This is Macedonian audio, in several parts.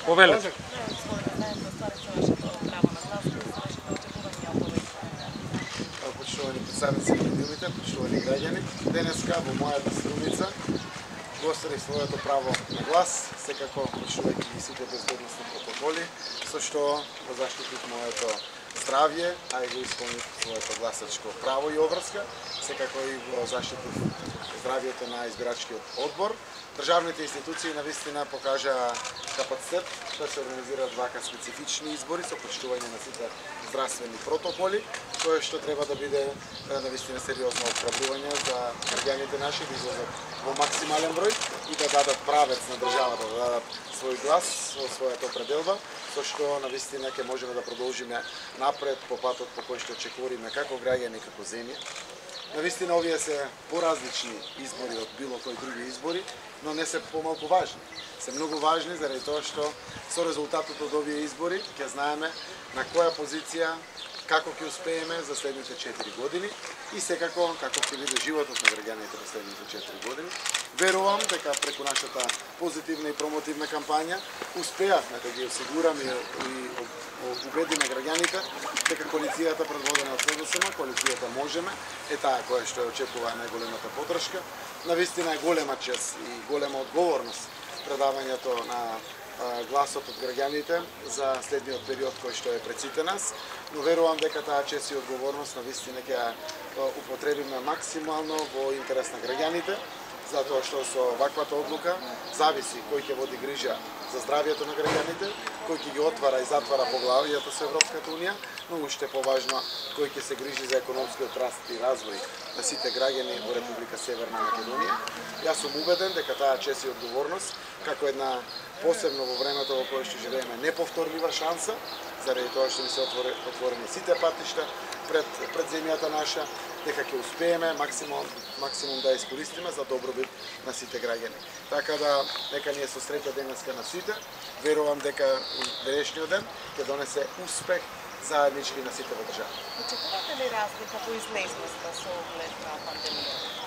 Повелете. Почитувани представници на медиумите, почитувани граѓани, денеска во мојата струница го остарив своето право на глас, секако почитувајќи ги сите безбедносни протоколи, со што го заштитив моето здравје, а и го исполнив своето гласачко право и обврска, секако и го заштитив здравјето на избирачкиот одбор. Државните институции навистина покажаа капацитет да се организираат вака специфични избори со почитување на сите здравствени протоколи, кое што треба да биде навистина сериозно охрабрување за граѓаните наши да излезат во максимален број и да дадат правец на државата, да дадат свој глас во својата определба, со што навистина ќе можеме да продолжиме напред по патот по кој што очекуваме како граѓани, како земја. Навистина овие се поразлични избори од било кои други избори, но не се помалку важни. Се многу важни заради тоа што со резултатот од овие избори ќе знаеме на која позиција како ќе успееме за следните 4 години и секако како ќе биде животот на граѓаните во следните 4 години. Верувам дека преку нашата позитивна и промотивна кампања успеавме да ги осигураме и убедиме граѓаните дека коалицијата предводена од СДСМ, коалицијата Можеме, е таа која што ја очекува најголемата поддршка. Навистина е голема чест и голема одговорност предавањето на гласот од граѓаните за следниот период кој што е пред сите нас, но верувам дека таа чест и одговорност навистина ќе ја употребиме максимално во интерес на граѓаните, затоа што со ваквата одлука зависи кој ќе води грижа за здравјето на граѓаните, кој ќе ги отвара и затвара поглавијата со Европската унија, но уште поважно кој ќе се грижи за економскиот раст и развој на сите граѓани во Република Северна Македонија. Јас сум убеден дека таа чест и одговорност, како една посебно во времето во кое што живееме неповторлива шанса, заради тоа што ни се отворени сите патишта пред земјата наша, дека ќе успееме максимум да искористиме за добробит на сите граѓани. Така да, нека ни е со среќа денеска на сите. Верувам дека денешниот ден ќе донесе успех заеднички на сите во држава. Очекувате ли разлика во излезноста со оглед на пандемијата?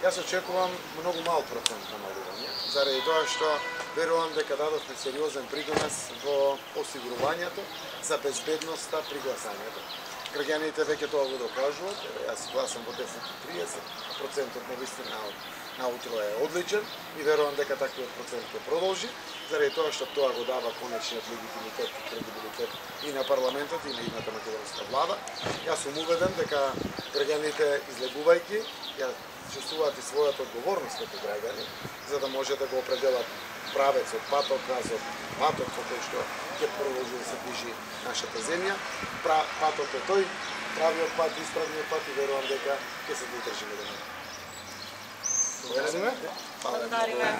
Јас очекувам многу мал процент намалување, заради тоа што верувам дека дадовме сериозен придонес во осигурувањето за безбедноста при гласањето. Граѓаните веќе тоа го докажуваат, јас гласам во 10:30, процентот навистина наутро е одличен и верувам дека таквиот процент ќе продолжи, заради тоа што тоа го дава конечниот легитимитет и кредибилитет и на парламентот и на идната македонска влада. Јас сум убеден дека граѓаните излегувајќи ја чувствуваат и својата одговорност како граѓани, за да може да го определат правецот, патот назад, патот по кој што ќе продолжи да се движи нашата земја. Патот е тој, правиот пат, исправниот пат и верувам дека ќе се додржиме до него. Благодариме.